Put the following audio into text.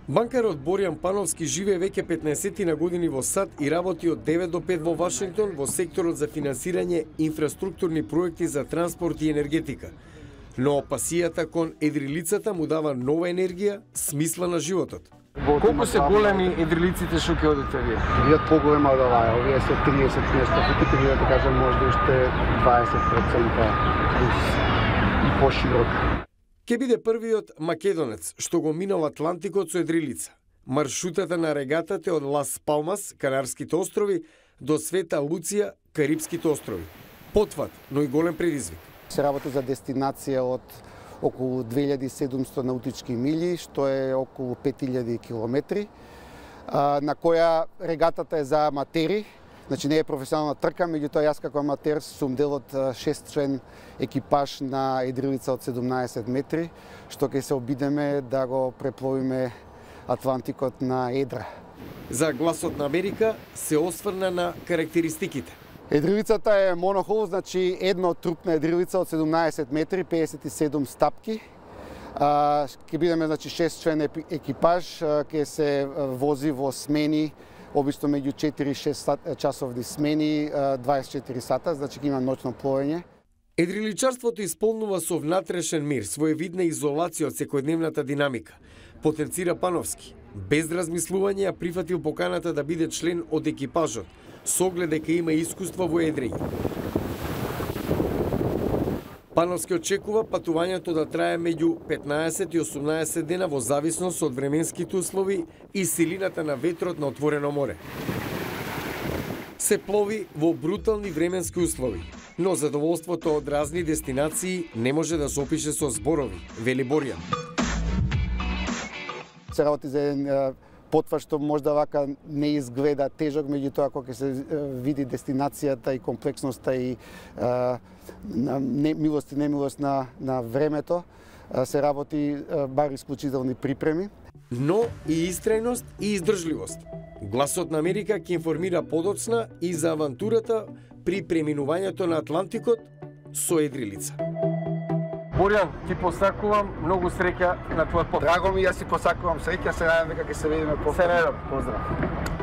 Банкарот Боријан Пановски живее веќе 15 на години во САД и работи од 9 до 5 во Вашингтон во секторот за финансирање инфраструктурни проекти за транспорт и енергетика. Но пасијата кон едрилицата му дава нова енергија, смисла на животот. Колку се големи едрилиците што ќе одите вие? Видат поголема од оваа, овие се 30 место, пути вие да кажам можда уште 20% плюс и поширок. Ке биде првиот македонец што го минал Атлантикот со едрилица. Маршрутата на регатата е од Лас Палмас, Канарските острови, до Света Луција, Карипските острови. Потват, но и голем предизвик. Се работи за дестинација од околу 2700 наутички мили, што е околу 5000 километри, на која регатата е за аматери. Значи не е професионална трка, меѓутоа јас како аматер сум дел од 6-член екипаж на едрилица од 17 метри, што ќе се обидеме да го препловиме Атлантикот на едра. За Гласот на Америка се осврна на карактеристиките. Едрилицата е монохол, значи едно трупна едрилица од 17 метри, 57 стапки. Ќе бидеме значи 6-член екипаж, ќе се вози во смени, обично меѓу 4-6 часовни смени, 24 сата, значи ќе има ноќно пловење. Едриличарството исполнува со внатрешен мир, своевидна изолација од секојдневната динамика. Потенцира Пановски. Без размислување ја прифатил поканата да биде член од екипажот, со оглед дека има искуство во едрење. Пановски очекува патувањето да трае меѓу 15 и 18 дена во зависност од временските услови и силината на ветрот на отворено море. Се плови во брутални временски услови, но задоволството од разни дестинации не може да се опише со зборови, вели Боријан. Се работи за еден потвар што можда вака не изгледа тежок, меѓутоа кога ќе се види дестинацијата и комплексноста и милост и немилост на времето, се работи бар исклучителни припреми. Но и истрајност и издржливост. Гласот на Америка ќе информира подоцна и за авантурата при преминувањето на Атлантикот со едрилица. Боријан, ти посакувам многу среќа на твојот пат. Драго ми, јас си посакувам среќа, се надевам дека ќе се видиме повторно. Се надевам, поздрав.